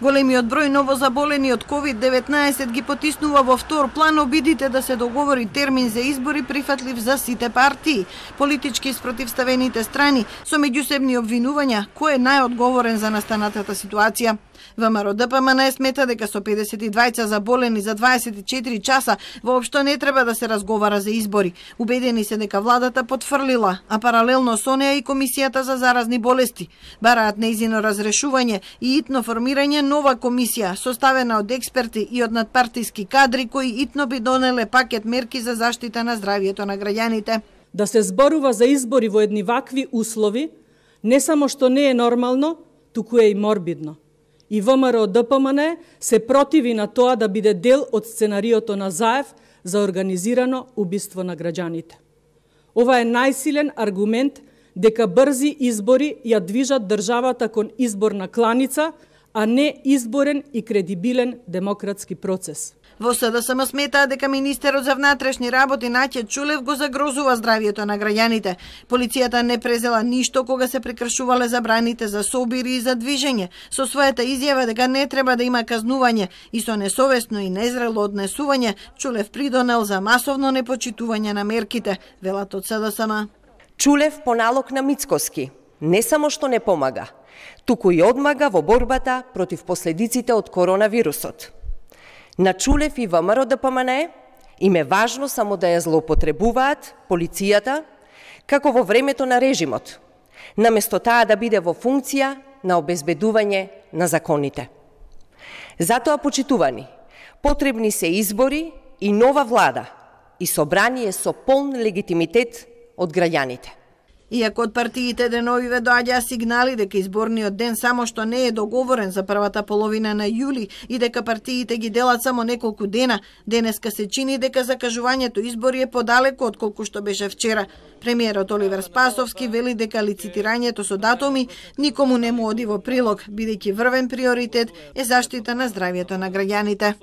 Големиот број новозаболени од COVID-19 ги потиснува во втор план обидите да се договори термин за избори прифатлив за сите партии, политички спротивставените страни, со меѓусебни обвинувања кој е најодговорен за настанатата ситуација. ВМРО-ДПМН смета дека со 52 заболени за 24 часа воопшто не треба да се разговара за избори. Убедени се дека владата потфрлила, а паралелно со неа и Комисијата за заразни болести. Бараат нејзино разрешување и итно формирање нова комисија, составена од експерти и од надпартиски кадри кои итно би донеле пакет мерки за заштита на здравието на граѓаните. Да се зборува за избори во едни вакви услови, не само што не е нормално, туку е и морбидно. И ВМРО-ДПМН се противи на тоа да биде дел од сценариото на Заев за организирано убиство на граѓаните. Ова е најсилен аргумент дека брзи избори ја движат државата кон изборна кланица, а не изборен и кредибилен демократски процес. Во СДСМ сметаа дека министерот за внатрешни работи Наќа Чулев го загрозува здравието на граѓаните. Полицијата не презела ништо кога се прекршувале забраните за собири и за движење, со својата изјава дека не треба да има казнување и со несовесно и незрело однесување Чулев придонел за масовно непочитување на мерките, велат од СДСМ. Чулев по налог на Мицкоски не само што не помага, туку и одмага во борбата против последиците од коронавирусот. На Чулев и ВМРО-ДПМН им е важно само да ја злоупотребуваат полицијата, како во времето на режимот, наместо таа да биде во функција на обезбедување на законите. Затоа, почитувани, потребни се избори и нова влада и собрание со полн легитимитет од граѓаните. Иако од партиите деновиве доаѓаа сигнали дека изборниот ден само што не е договорен за првата половина на јули и дека партиите ги делат само неколку дена, денеска се чини дека закажувањето избори е подалеку од колку што беше вчера. Премиерот Оливер Спасовски вели дека лицитирањето со датуми никому не му оди во прилог, бидејќи врвен приоритет е заштита на здравието на граѓаните.